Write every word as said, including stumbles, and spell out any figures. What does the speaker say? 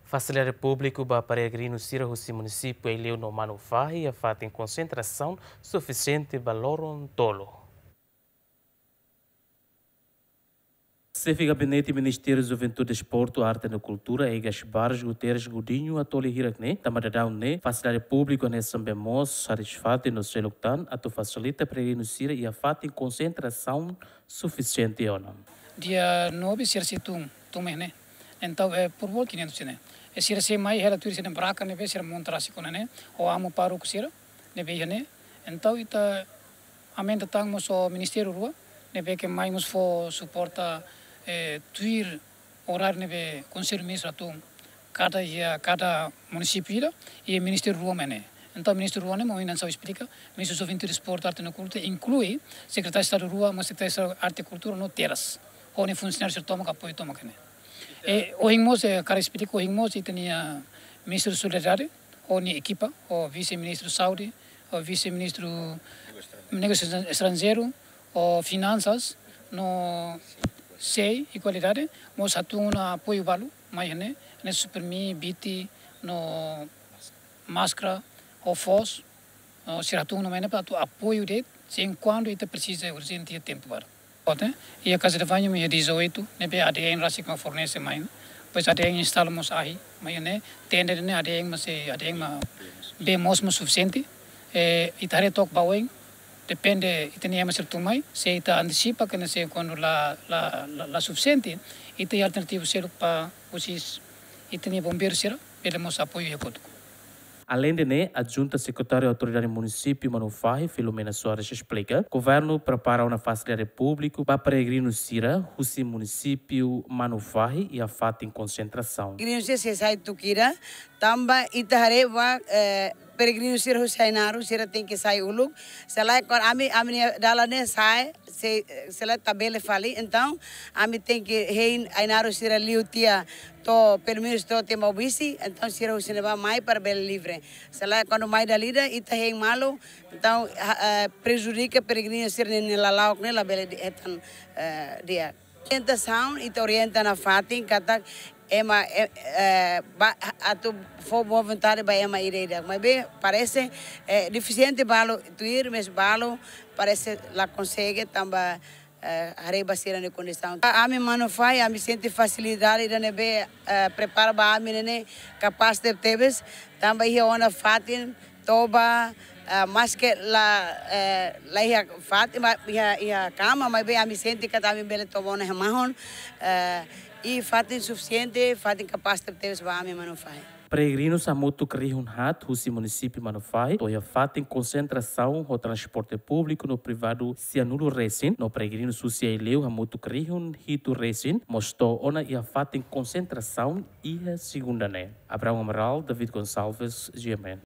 Fasilidade públiku ba peregrinu sira husi munisípiu Aileu no Manufahi iha fatin konsentrasaun sufisiente ba loron tolu. Xefe Gabinete Ministériu Juventude, Desportu, Arte no Kultura, Egas Barros Guterres Godinho, hato'o hirak ne'e, tanba daudaun ne'e fasilidade públiku hanesan bee moos harii fatin no seluk tan atu fasilita peregrinu sira iha fatin konsentrasaun sufisiente ona. Dia nove sira sei tun, tun mai ne'e. Entaun, eh, por volta quinhentos ne'e. E sira sei mai hela tuir sira barraka ne'ebé sira monta rasik ona ne'e, ho amu pároku sira ne'ebé iha ne'e. Entaun ita aumenta tan mós ho ministériu rua, ne'ebé ke mai mós fó suporta, eh, tuir oráriu ne'ebé Konsellu Ministru hatun kada iha, kada munisípiu ida, iha ministériu rua mai ne'e. Entaun ministériu rua ne'e, mak ohin hanesan esplika, Ministru Juventude, Desportu, Arte no Kultura, inklui Sekretáriu Estadu rua, mós Sekretáriu Estadu Arte, Kultura no Terras. Ho nia funsionáriu sira tomak, apoiu tomak ne'e. E ohin mós, eh, hakarak esplika, ohin mós ita-nia Ministru Solidariedade, ho nia ekipa, ho Vise-Ministru Saúde, ho Vise-Ministru Negósius Estranjeirus, ho Finansas, no SEI, Igualdade, mós hatun ona apoiu balu mai ne'e, ne'e suprimí, biti, no máskara, ho foos, no sira hatun ona mai ne'e para atu apoiu de'it, se enkuantu ita presiza urjente iha tempu badak. Ote, iha Casa de Banho iha dezoito, ne'ebé A D N rasik mak fornese mai. Depois A D N instala mós ahi, mai ne'e, tenda ne'e A D N mak sei, A D N mak bee moos mak sufisiente. Eh, ita haree took ba oin, depende ita-nia ema sira tun mai, se ita antesipa, ke ne'e se kuandu la, la, la, la sufisiente, ita iha alternativu seluk para husi ita-nia bombeiru sira, bele mós apoiu iha kotuk. Aleinde ne'e, Adjunta Sekretáriu Autoridade Munisípiu Manufahi, Filomena Soares, esplika, governu prepara ona fasilidade públiku ba peregrinu sira husi munisípiu Manufahi iha fatin konsentrasaun. Peregrinu sira sei sai tuku ida, tanba ita haree ba, eh, peregrinu sira husi Ainaro, sira tenke sai uluk. Se lae, kuandu ami, ami-nia dalan ne'e sai, se, se lae tabele fali, entaun ami tenke hein Ainaro sira liu tiha to'o, pelumenus to'o tiha Maubisse, entaun sira husi ne'ebá mai para bele livre. Se lae kuandu mai dala ida, ita hein malu, entaun, ha, eh, prejudika peregrinu sira-nia lala'ok ne'e labele di-, hetan, eh, di'ak. Orientasaun, ita orienta nafatin katak ema, eh, eh, ba, atu fó boa vontade ba ema ida-idak. Maibé parese, eh, defisiente balu, tuir mós balu, parese la konsege tanba, eh, haree ba sira-nia kondisaun. Ami Manufahi, ami sente fasilidade ida ne'ebé, eh, prepara ba ami ne'e ne'e kapás tebetebes, tanba iha ona fatin toba, eh, maske la, eh, la iha fatin, ma-, iha, iha kama, maibé ami sente katak ami bele toba ona iha mahon, eh, i fatin sufisiente, fatin kapás tebetebes ba ami Manufahi. Peregrinus hamutuk rihun haat husi munisípiu Manufahi to'o iha fatin konsentrasaun ho transporte públiku no privadu sianulu resin, no peregrinus husi Aileu hamutuk rihun hitu resin mós to'o ona iha fatin konsentrasaun iha segunda ne'e. Abraão Amaral, David Gonçalves, G M N.